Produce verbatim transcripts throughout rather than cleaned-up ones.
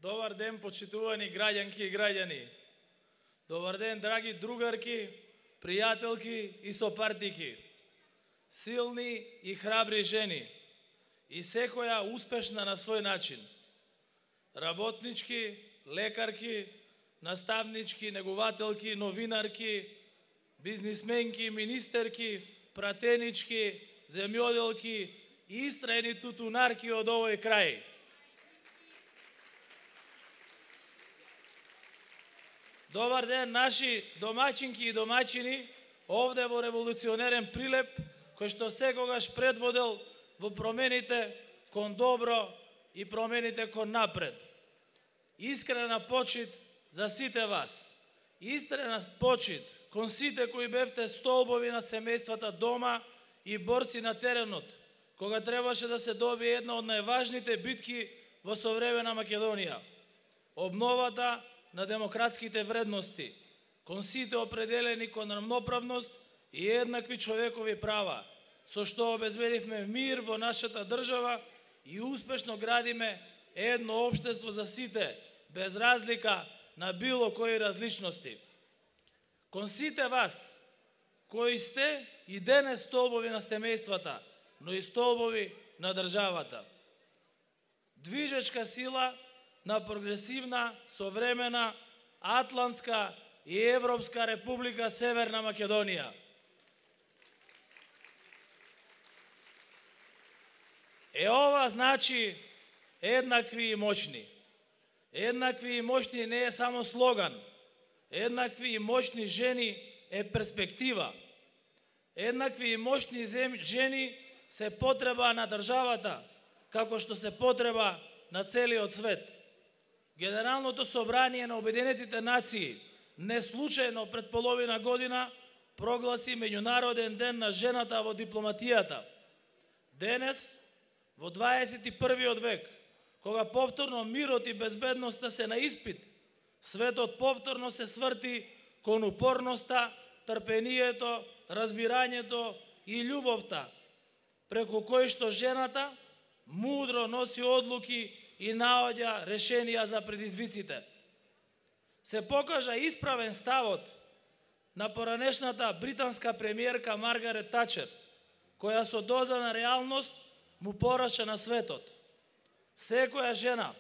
Добар ден, почитувани граѓанки и граѓани. Добар ден, драги другарки, пријателки и сопартики. Силни и храбри жени. И секоја успешна на свој начин. Работнички, лекарки, наставнички, негователки, новинарки, бизнисменки, министерки, пратенички, земјоделки и истрајни тутунарки од овој крај. Добар ден, наши домаќинки и домаќини, овде во револуционерен Прилеп, кој што секогаш предводел во промените кон добро и промените кон напред. Искрена почит за сите вас. Искрена почит кон сите кои бевте столбови на семејствата дома и борци на теренот, кога требаше да се добие една од најважните битки во современа Македонија. Обновата на демократските вредности, кон сите определени кон рамноправност и еднакви човекови права, со што обезбедивме мир во нашата држава и успешно градиме едно општество за сите, без разлика на било кои различности. Кон сите вас, кои сте и денес столбови на семејствата, но и столбови на државата. Движечка сила на прогресивна, современа, атлантска и европска република Северна Македонија. Е ова значи еднакви и моćни. Еднакви и моćни не е само слоган. Еднакви и моćни жени е перспектива. Еднакви и моćни жени се потреба на државата, како што се потреба на целиот свет. Генералното собрание на Обединетите нации неслучајно пред половина година прогласи Меѓународен ден на жената во дипломатијата. Денес, во дваесет и првиот век, кога повторно мирот и безбедноста се на испит, светот повторно се сврти кон упорноста, трпението, разбирањето и љубовта, преку кој што жената мудро носи одлуки и наоѓа решенија за предизвиците. Се покажа исправен ставот на поранешната британска премиерка Маргарет Тачер, која со доза на реалност му порача на светот. Секоја жена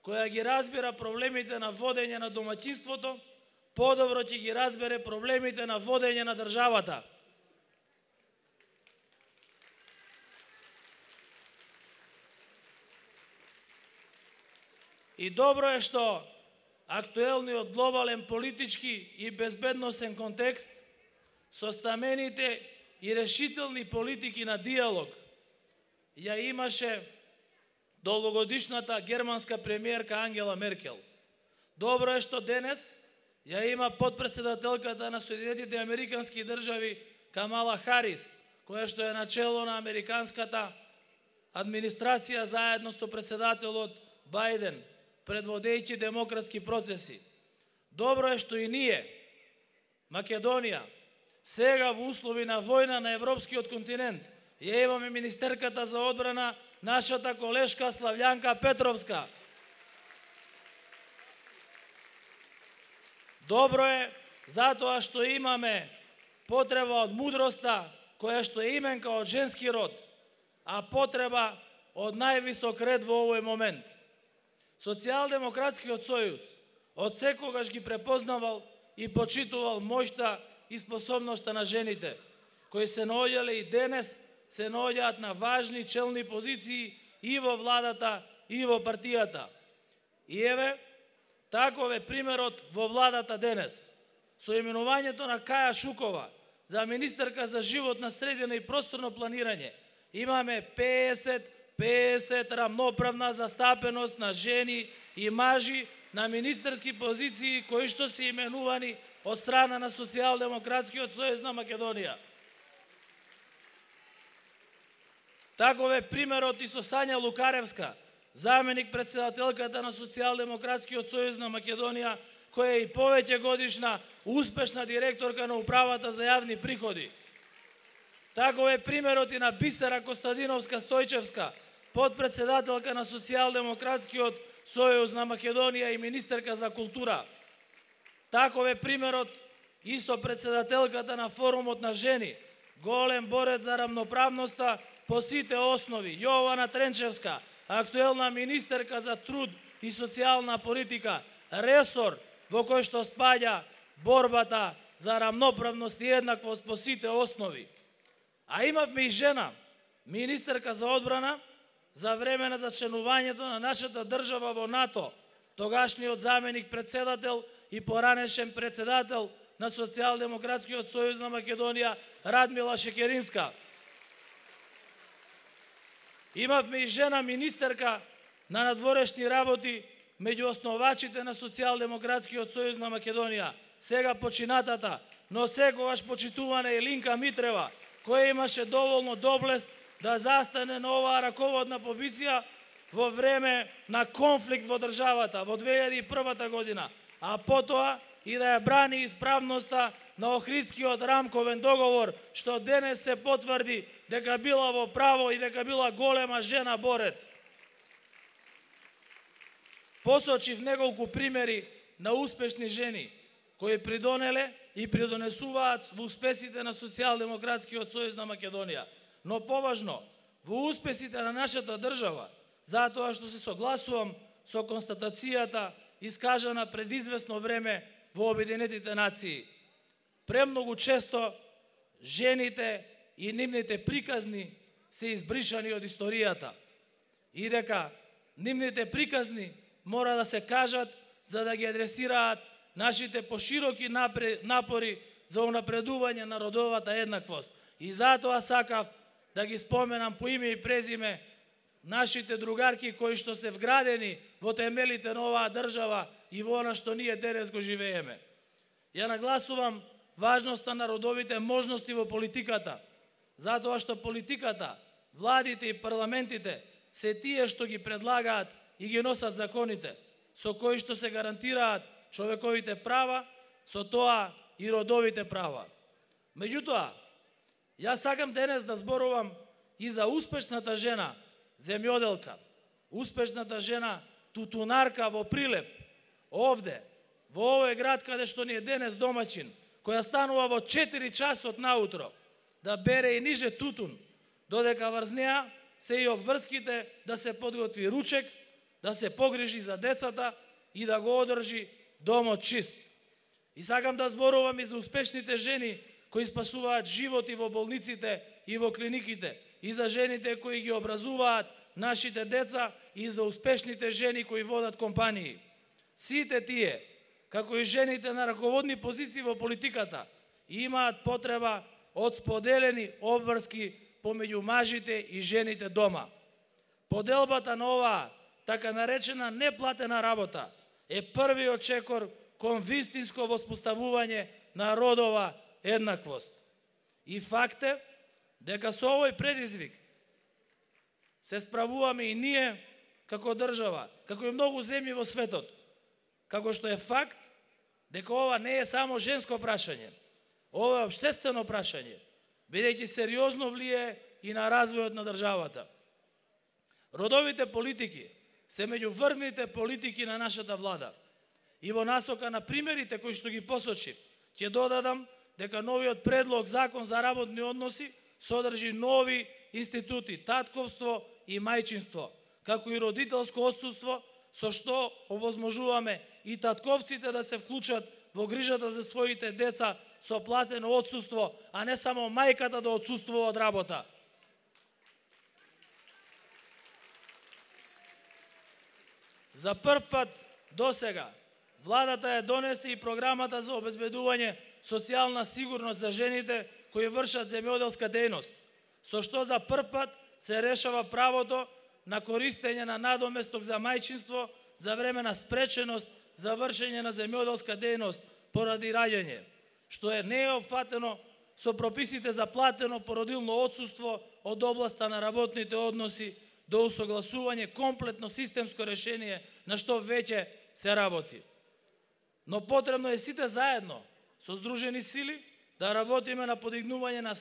која ги разбира проблемите на водење на домаќинството, подобро ќе ги разбере проблемите на водење на државата. И добро е што актуелниот глобален политички и безбедносен контекст со стамените и решителни политики на диалог ја имаше долгогодишната германска премиерка Ангела Меркел. Добро е што денес ја има подпредседателката на Соединетите Американски држави Камала Харис, која што е начело на американската администрација заедно со председателот Бајден, предводејќи демократски процеси. Добро е што и ние, Македонија, сега во услови на војна на европскиот континент, ја имаме министерката за одбрана, нашата колешка Славјанка Петровска. Добро е затоа што имаме потреба од мудроста, која што е именка од женски род, а потреба од највисок ред во овој момент. Социјалдемократскиот сојуз од секогаш ги препознавал и почитувал моќта и способноста на жените, кои се наоѓале и денес се наоѓаат на важни челни позиции и во владата и во партијата. И еве, таков е примерот во владата денес. Со именувањето на Каја Шукова за министерка за животна средина и просторно планирање имаме песет песет рамноправна застапеност на жени и мажи на министерски позиции кои што се именувани од страна на Социјалдемократскиот сојуз на Македонија. Таков е примерот и со Сања Лукаревска, заменик председателката на Социјалдемократскиот сојуз на Македонија, која е и повеќе годишна успешна директорка на управата за јавни приходи. Таков е примерот и на Бисера Костадиновска Стојчевска, подпредседателка на Социјалдемократскиот Сојузна Македонија и министерка за култура. Таков е примерот и со председателката на форумот на жени, голем борец за рамноправноста по сите основи, Јована Тренчевска, актуелна министерка за труд и социјална политика, ресор во кој што спаѓа борбата за рамноправност и еднаквост по сите основи. А имавме и жена, министерка за одбрана, за време на зачленувањето на нашата држава во НАТО, тогашниот заменик председател и поранешен председател на Социјалдемократскиот сојуз на Македонија Радмила Шекеринска. Имавме и жена министерка на надворешни работи меѓу основачите на Социјалдемократскиот сојуз на Македонија, сега починатата, но секогаш почитувана Илинка Митрева, која имаше доволно доблест да застане на оваа раководна позиција во време на конфликт во државата во две илјади и прва година, а потоа и да ја брани исправноста на Охридскиот рамковен договор, што денес се потврди дека била во право и дека била голема жена борец. Посочив неколку примери на успешни жени кои придонеле и придонесуваат во успесите на Социјалдемократскиот сојуз на Македонија. Но поважно, во успесите на нашата држава, затоа што се согласувам со констатацијата искажана пред известно време во Обединетите нации. Премногу често жените и нивните приказни се избришани од историјата и дека нивните приказни мора да се кажат за да ги адресираат нашите пошироки напори за унапредување на родовата еднаквост. И затоа сакав да ги споменам по име и презиме нашите другарки кои што се вградени во темелите на оваа држава и во она што ние денес го живееме. Ја нагласувам важноста на родовите можности во политиката, затоа што политиката, владите и парламентите се тие што ги предлагаат и ги носат законите, со кои што се гарантираат човековите права, со тоа и родовите права. Меѓутоа, јас сакам денес да зборувам и за успешната жена, земјоделка, успешната жена, тутунарка во Прилеп, овде, во овој град каде што ни е денес домаќин, која станува во четири часот наутро, да бере и ниже тутун, додека врз неа се и обврските да се подготви ручек, да се погрижи за децата и да го одржи домот чист. И сакам да зборувам и за успешните жени кои спасуваат животи во болниците и во клиниките, и за жените кои ги образуваат нашите деца, и за успешните жени кои водат компании. Сите тие, како и жените на раководни позиции во политиката, имаат потреба од споделени обврски помеѓу мажите и жените дома. Поделбата на оваа така наречена неплатена работа е првиот чекор кон вистинско воспоставување на родова еднаквост. И факт е дека со овој предизвик се справуваме и ние како држава, како и многу земји во светот, како што е факт дека ова не е само женско прашање, ова е општествено прашање, бидејќи сериозно влие и на развојот на државата. Родовите политики се меѓу врвните политики на нашата влада. И во насока на примерите кои што ги посочив, ќе додадам дека новиот предлог закон за работни односи содржи нови институти, татковство и мајчинство, како и родителско отсуство, со што овозможуваме и татковците да се вклучат во грижата за своите деца со платено отсуство, а не само мајката да отсуствува од работа. За прв пат досега владата ја донесе и програмата за обезбедување социјална сигурност за жените кои вршат земјоделска дејност, со што за прв пат се решава правото на користење на надоместок за мајчинство за време на спреченост за вршење на земјоделска дејност поради раѓање, што е не е опфатено со прописите за платено породилно отсуство од областа на работните односи до усогласување комплетно системско решение на што веќе се работи. Но потребно е сите заедно, со здружени сили, да работиме на подигнување на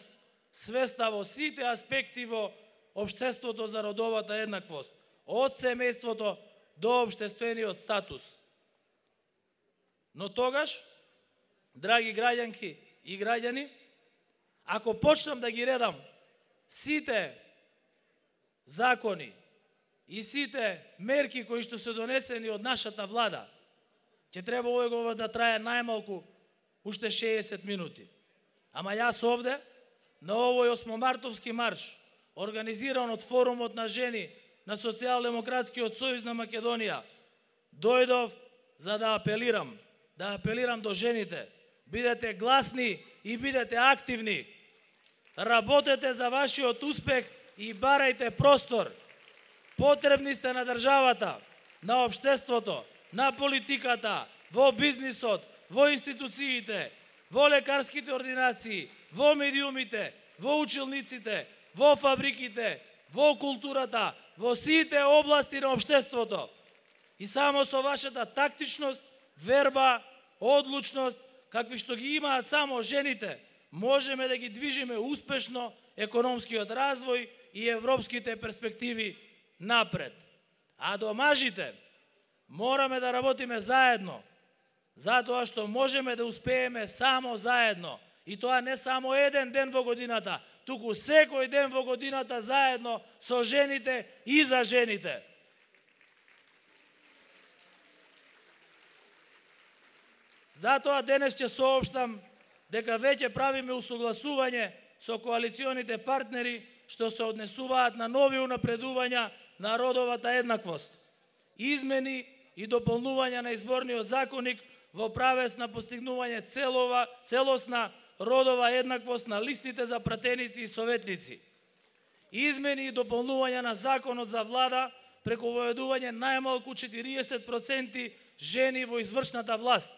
свеста во сите аспекти во општеството за родовата еднаквост, од семејството до општествениот статус. Но тогаш, драги граѓанки и граѓани, ако почнам да ги редам сите закони и сите мерки кои што се донесени од нашата влада, ќе треба овој да трае најмалку уште шеесет минути. Ама јас овде, на овој осмомартовски марш, организиран од Форумот на жени на Социјалдемократскиот сојуз на Македонија, дојдов за да апелирам, да апелирам до жените. Бидете гласни и бидете активни. Работете за вашиот успех и барајте простор. Потребни сте на државата, на општеството, на политиката, во бизнисот, во институциите, во лекарските ординации, во медиумите, во училниците, во фабриките, во културата, во сите области на општеството. И само со вашата тактичност, верба, одлучност, какви што ги имаат само жените, можеме да ги движиме успешно економскиот развој и европските перспективи напред. А до мажите мораме да работиме заедно, затоа што можеме да успееме само заедно. И тоа не само еден ден во годината, туку секој ден во годината заедно со жените и за жените. Затоа денес ќе соопштам дека веќе правиме усогласување со коалиционите партнери што се однесуваат на нови унапредувања на родовата еднаквост, измени и дополнување на изборниот законник во правец на постигнување целова, целосна родова еднаквост на листите за пратеници и советници, измени и дополнување на законот за влада преку воведување најмалку четириесет проценти жени во извршната власт,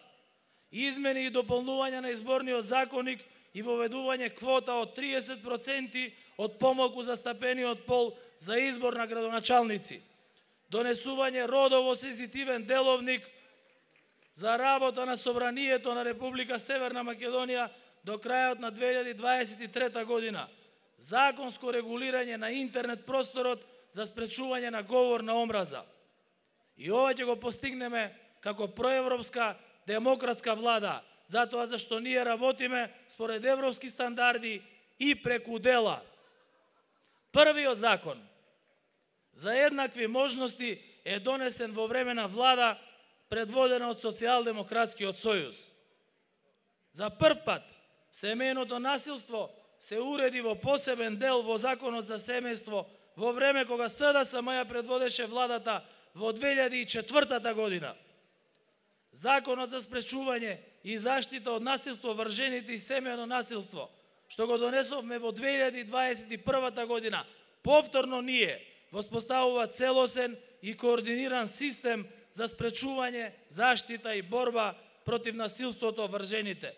измени и дополнување на изборниот законник и воведување квота од триесет проценти од помалку застапениот пол за избор на градоначалници, донесување родово сензитивен деловник за работа на Собранието на Република Северна Македонија до крајот на две илјади дваесет и трета година, законско регулирање на интернет просторот за спречување на говор на омраза. И ова ќе го постигнеме како проевропска демократска влада, затоа зашто ние работиме според европски стандарди и преку дела. Првиот закон за еднакви можности е донесен во време на влада предводена од Социјалдемократскиот сојуз. За прв пат семејното насилство се уреди во посебен дел во Законот за семејство во време кога СДСМ ја предводеше владата во две илјади и четвртата година. Законот за спречување и заштита од насилство врз жените и семејно насилство, што го донесовме во две илјади дваесет и првата година, повторно ние воспоставува целосен и координиран систем за спречување, заштита и борба против насилството врз жените,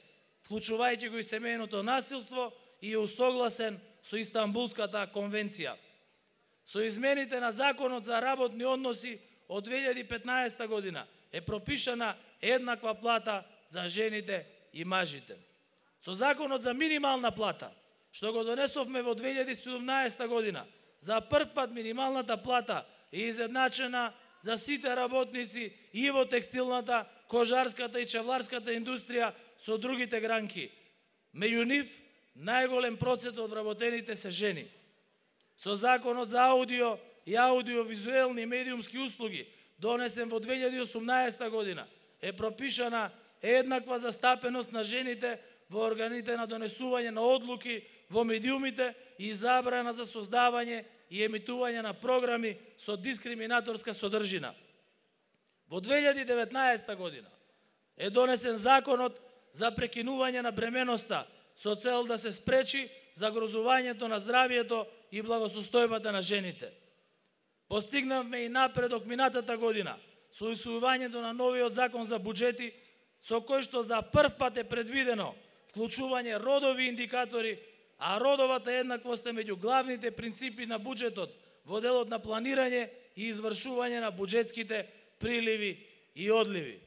вклучувајќи го и семејното насилство и е усогласен со Истанбулската конвенција. Со измените на Законот за работни односи од две илјади и петнаесета година е пропишана еднаква плата за жените и мажите. Со Законот за минимална плата, што го донесовме во две илјади и седумнаесета година, за прв пат минималната плата е изедначена за сите работници и во текстилната, кожарската и чевларската индустрија со другите гранки. Меѓу нив, најголем процент од вработените се жени. Со Законот за аудио и аудиовизуелни медиумски услуги, донесен во две илјади и осумнаесета година, е пропишана еднаква застапеност на жените во органите на донесување на одлуки во медиумите и забрана за создавање и емитување на програми со дискриминаторска содржина. Во две илјади и деветнаесета година е донесен Законот за прекинување на бременоста со цел да се спречи загрозувањето на здравието и благосостојбата на жените. Постигнавме и напредок минатата година со усвојувањето на новиот закон за буџети, со кој што за прв пат е предвидено вклучување родови индикатори, а родовата еднаквост е меѓу главните принципи на буџетот во делот на планирање и извршување на буџетските приливи и одливи.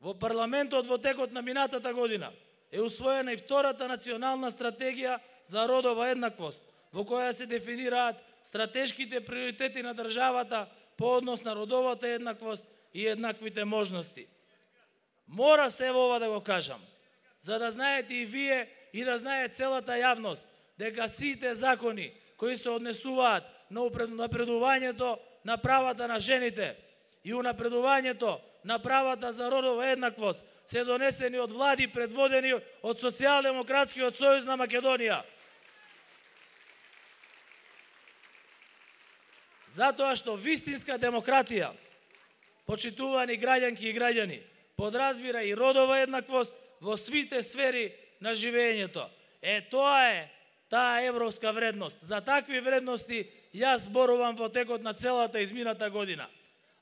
Во парламентот во текот на минатата година е усвоена и втората национална стратегија за родова еднаквост, во која се дефинираат стратешките приоритети на државата по однос на родовата еднаквост и еднаквите можности. Мора се ова да го кажам, за да знаете и вие и да знае целата јавност, дека сите закони кои се однесуваат на напредувањето на правата на жените и унапредувањето на правата за родова еднаквост се донесени од влади предводени од Социјалдемократскиот сојуз на Македонија. Затоа што вистинска демократија, почитувани граѓанки и граѓани, подразбира и родова еднаквост во сите сфери на живењето. Е, тоа е таа европска вредност. За такви вредности јас зборувам во текот на целата измината година.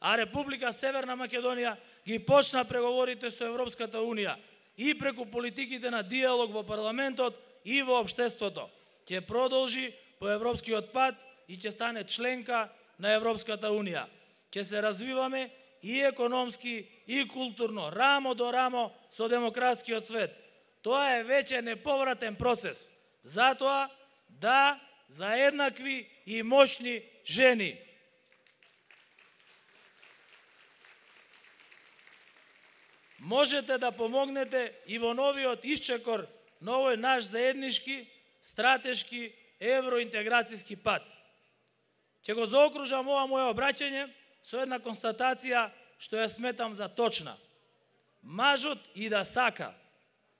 А Република Северна Македонија ги почна преговорите со Европската Унија и преку политиките на диалог во парламентот и во општеството. Ќе продолжи по европскиот пат и ќе стане членка на Европската Унија. Ќе се развиваме и економски, и културно, рамо до рамо со демократскиот свет. Тоа е веќе неповратен процес. Затоа, да, за еднакви и мощни жени. Можете да помогнете и во новиот исчекор на овој наш заеднички, стратешки, евроинтеграцијски пат. Ќе го заокружам ова моје обраќање со една констатација што ја сметам за точна. Мажот и да сака,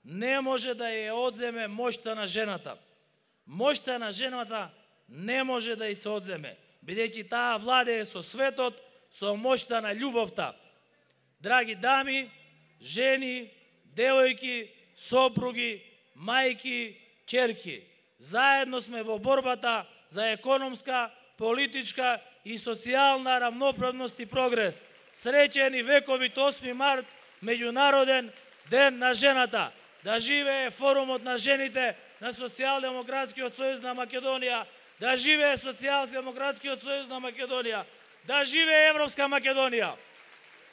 не може да ја одземе моќта на жената. Моќта на жената не може да ја се одземе, бидејќи таа владее со светот, со моќта на љубовта. Драги дами, жени, девојки, сопруги, мајки, ќерки, заедно сме во борбата за економска, политичка и социјална равноправност и прогрес. Среќен и вековит осми март, меѓународен ден на жената. Да живее форумот на жените на Социјалдемократскиот сојуз на Македонија, да живее Социјалдемократскиот сојуз на Македонија, да живее Европска Македонија.